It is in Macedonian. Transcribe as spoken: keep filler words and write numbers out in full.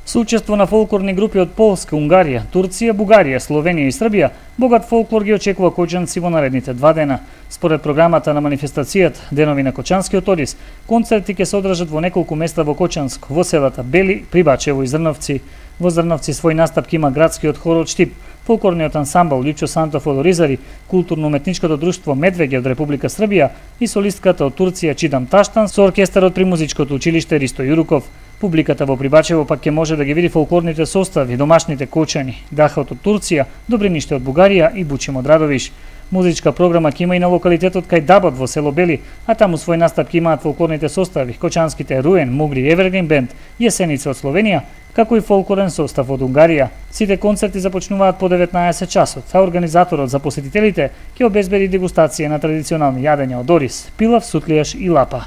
Со учество на фолклорни групи од Полска, Унгарија, Турција, Бугарија, Словенија и Србија, богат фолклор ги очекува кочанци во наредните два дена. Според програмата на манифестацијата Денови на Кочанскиот Одис, концерти ќе се одржат во неколку места во Кочанско, во селата Бели, Прибачево и Зрновци. Во Зрновци свој настапки има градскиот хор од Штип, фолклорниот ансамбл Лјупчо Сантов од Оризари, културно-уметничкото друштво Медвеѓе од Република Србија и солистката од Турција Чидам Таштан со оркестарот при музичкото училиште Ристо Јуруков. Публиката во Прибачево пак ќе може да ги види фолклорните состави, домашните кочани, дахот од Турција, добриниште од Бугарија и бучем од Радовиш. Музичка програма ќе има и на локалитетот кај Дабот во село Бели, а таму свој настапки имаат фолклорните состави, кочанските Руен, Мугри, Евергрин бенд, Јесеница од Словенија, како и фолклорен состав од Унгарија. Сите концерти започнуваат по деветнаесет часот, а организаторот за посетителите ќе обезбеди дегустација на традиционални јадења од ориз, пилав, сутлијаш и лапа.